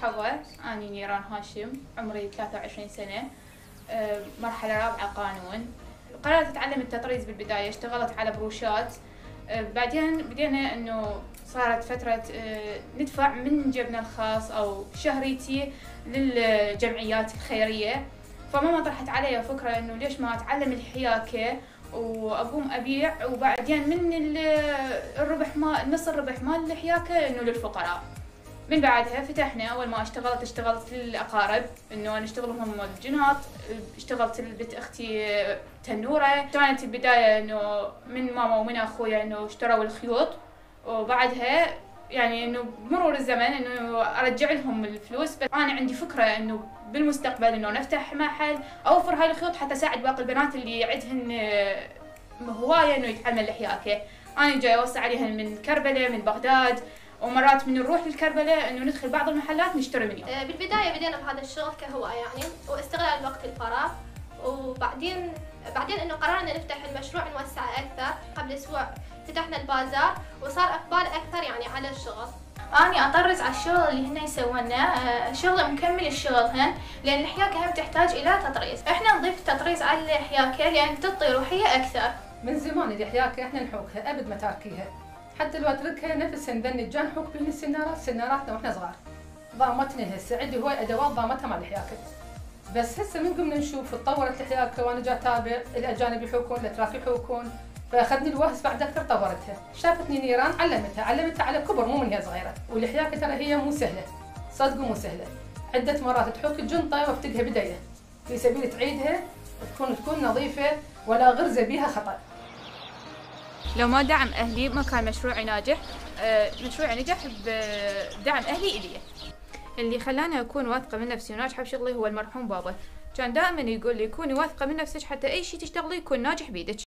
مرحبا، أني نيران هاشم، عمري 23 سنة، مرحلة رابعة قانون. قررت أتعلم التطريز بالبداية، اشتغلت على بروشات، بعدين بدينا إنه صارت فترة ندفع من جيبنا الخاص أو شهريتي للجمعيات الخيرية، فماما طرحت علي فكرة إنه ليش ما أتعلم الحياكة وأقوم أبيع، وبعدين من الربح نص الربح مال الحياكة إنه للفقراء. من بعدها فتحنا، أول ما اشتغلت للأقارب، إنه أنا أشتغل لهم الجناط، اشتغلت لبنت أختي تنورة. كانت البداية إنه من ماما ومن أخويا إنه اشتروا الخيوط، وبعدها يعني إنه بمرور الزمن إنه أرجع لهم الفلوس. بس أنا عندي فكرة إنه بالمستقبل إنه نفتح محل أوفر هاي الخيوط حتى أساعد باقي البنات اللي عندهن هواية إنه يتعلمن الحياكة. أنا جاي أوصي عليهن من كربلاء، من بغداد، ومرات من نروح للكربلاء انه ندخل بعض المحلات نشتري منهم. بالبدايه بدينا بهذا الشغل كهوايه يعني واستغلال وقت الفراغ، وبعدين انه قررنا نفتح المشروع نوسعه اكثر. قبل اسبوع فتحنا البازار وصار اقبال اكثر يعني على الشغل. اني اطرز على الشغل اللي هن يسوونه، شغل مكمل الشغلهن، لان الحياكه هم تحتاج الى تطريز. احنا نضيف التطريز على الحياكه لان تعطي روحيه اكثر. من زمان الحياكه احنا نحوكها ابد ما تاركيها، حتى لو اتركها نفس نذني الجان نحوك بين سناراتنا واحنا صغار. ضامتنا هسه عندي هواي ادوات ضامتها مال الحياكه، بس هسه من قمنا نشوف تطورت الحياكه وانا جا اتابع الاجانب يحوكون، الاتراك يحوكون، فاخذني الوهس بعد اكثر طورتها. شافتني نيران علمتها على كبر، مو من هي صغيره. والحياكه ترى هي مو سهله، صدق مو سهله. عده مرات تحوك الجنطه وافتقها بدايه في سبيل تعيدها تكون نظيفه ولا غرزه بيها خطا. لو ما دعم أهلي ما كان مشروعي ناجح. مشروعي نجح بدعم أهلي إلي. اللي خلاني أكون واثقة من نفسي وناجحة بشغلي هو المرحوم بابا، كان دائما يقول لي كوني واثقة من نفسك حتى أي شيء تشتغلي يكون ناجح بيدك.